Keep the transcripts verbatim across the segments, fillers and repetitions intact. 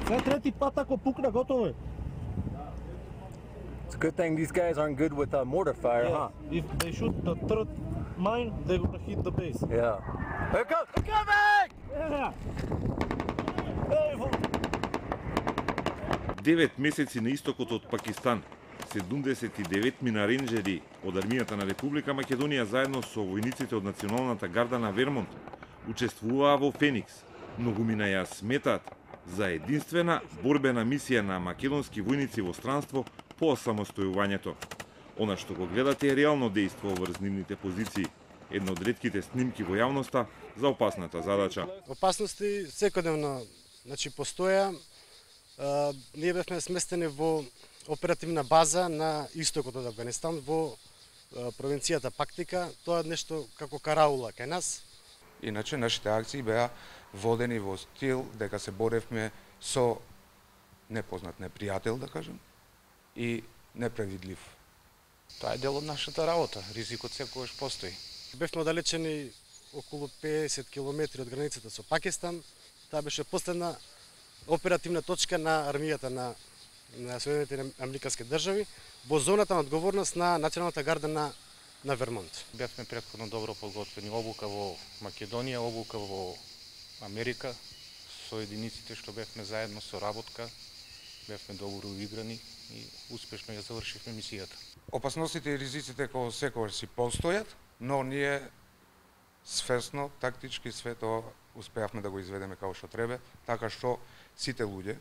Сега трети пат ако пукне, готово е. It's a good thing these guys aren't good with uh, mortar fire, Yeah. huh? If they shoot the third mine, they're gonna hit the base. Yeah. Here comes, they're coming! Yeah. Hey, Девет месеци на истокот од Пакистан, седумдесет и деветмина на ренџери од армијата на Република Македонија заедно со војниците од Националната гарда на Вермонт учествуваа во Феникс. Многумина ја сметаат за единствена борбена мисија на македонски војници во странство по самостојувањето. Она што го гледате е реално дејство врз нивните позиции, една од ретките снимки во јавноста за опасната задача. Опасности секојдневно, значи постоја. Uh, ние бевме сместени во оперативна база на истокот од Авганистан во uh, провинцијата Пактика. Тоа е нешто како караула кај нас. Иначе нашите акции беа водени во стил дека се боревме со непознат непријател, да кажем, и непредвидлив. Тоа е дел од нашата работа. Ризикот секогаш постои. Бевме оддалечени околу педесет километри од границата со Пакистан. Таа беше последна оперативна точка на армијата на, на Соединетите Американски држави во зоната на одговорност на Националната гарда на, на Вермонт. Бевме претходно добро подготвени, обука во Македонија, обука во Америка, со единиците што бевме заедно, со работка, бевме добро уиграни и успешно ја завршивме мисијата. Опасностите и ризиците кои секогаш си постојат, но ние свесно, тактички све тоа успеавме да го изведеме како што треба, така што сите луѓе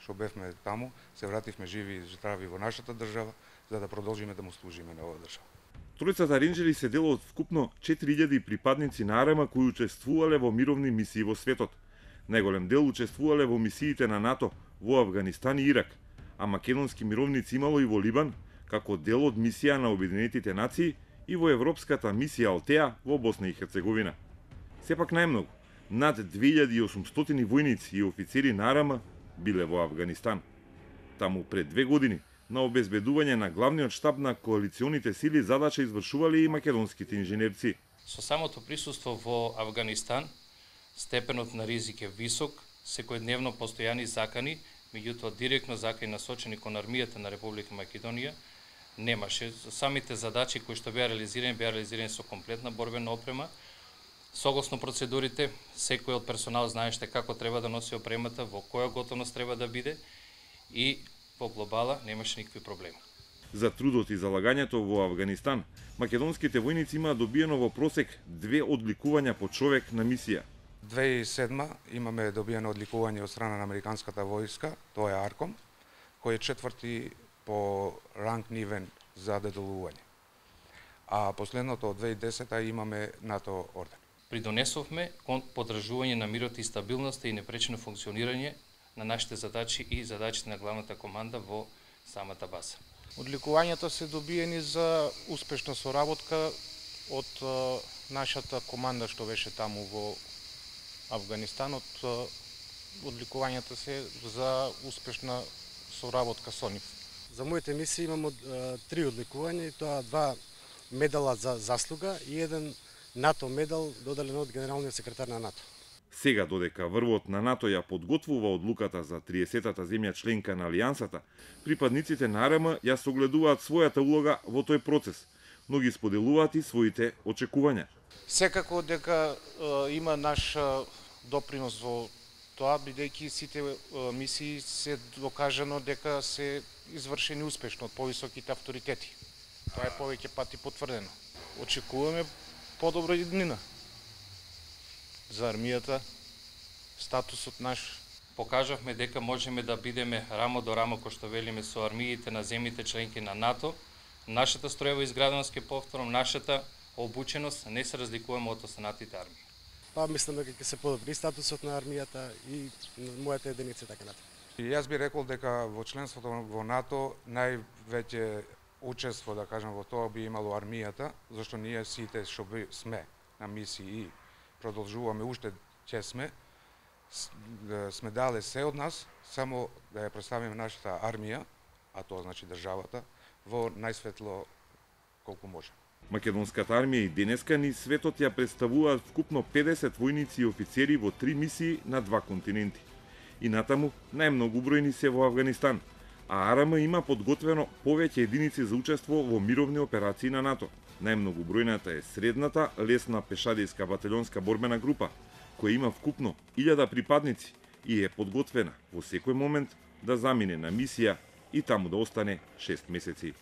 што бевме таму се вративме живи и здрави во нашата држава за да продолжиме да му служиме на оваа држава. Тројцата ренџери се дел од вкупно четири илјади припадници на АРМА кои учествувале во мировни мисии во светот. Најголем дел учествувале во мисиите на НАТО во Авганистан и Ирак, а македонски мировници имало и во Либан, како дел од мисија на Обединетите нации и во европската мисија Алтеа во Босна и Херцеговина. Сепак најмногу, над две илјади и осумстотини војници и офицери на АРМА биле во Авганистан. Таму пред две години на обезбедување на главниот штаб на коалиционите сили задача извршувале и македонските инженерци. Со самото присуство во Авганистан, степенот на ризик е висок, секојдневно постојани закани, меѓутоа директно закани насочени кон армијата на Република Македонија немаше. Самите задачи кои што беа реализирани, беа реализирани со комплетна борбена опрема. Согласно процедурите, секој од персонал знаеше како треба да носи опремата, во која готовност треба да биде и во глобала немаше никакви проблеми. За трудот и залагањето во Авганистан, македонските војници имаа добиено во просек две одликувања по човек на мисија. две илјади и седма имаме добиено одликување од страна на американската војска, тоа е Арком, кој е четврти по ранг нивен за деделување. А последното од две илјади и десета имаме НАТО орден. Придонесовме кон подржување на мирот и стабилноста и непречено функционирање на нашите задачи и задачите на главната команда во самата база. Одликувањата се добиени за успешна соработка од uh, нашата команда што беше таму во Авганистан, од uh, одликувањата се за успешна соработка со нив. За моите мисии имам uh, три одликувања и тоа два медала за заслуга и еден НАТО медал доделен од генералниот секретар на НАТО. Сега додека врвот на НАТО ја подготвува одлуката за триесетата земја членка на Алијансата, припадниците на АРМА ја согледуваат својата улога во тој процес, но ги споделуваат и своите очекувања. Секако дека е, има наш е, допринос во тоа, бидејќи сите е, мисии се докажано дека се извршени успешно од повисоките авторитети. Тоа е повеќе пати потврдено. Очекуваме подобра иднина за армијата, статусот наш. Покажавме дека можеме да бидеме рамо до рамо, кој што велиме, со армиите на земјите членки на НАТО. Нашата строева изграденост, ке повторам, нашата обученост не се разликуваме од останатите армии. Па мислам дека ќе се подобри статусот на армијата и мојата единица така натаму. Јас би рекол дека во членството во НАТО највеќе учество, да кажам, во тоа би имало армијата, зашто ние сите што сме на мисии и продолжуваме уште ќе сме, сме дале се од нас, само да ја представиме нашата армија, а тоа значи државата, во најсветло колку може. Македонската армија и денеска ни светот ја представуваат вкупно педесет војници и офицери во три мисии на два континенти. и натаму најмногу бројни се во Авганистан, а АРМ има подготвено повеќе единици за учество во мировни операции на НАТО. Најмногу бројната е средната лесна пешадијска батальонска борбена група, која има вкупно илјада припадници и е подготвена во секој момент да замине на мисија и таму да остане шест месеци.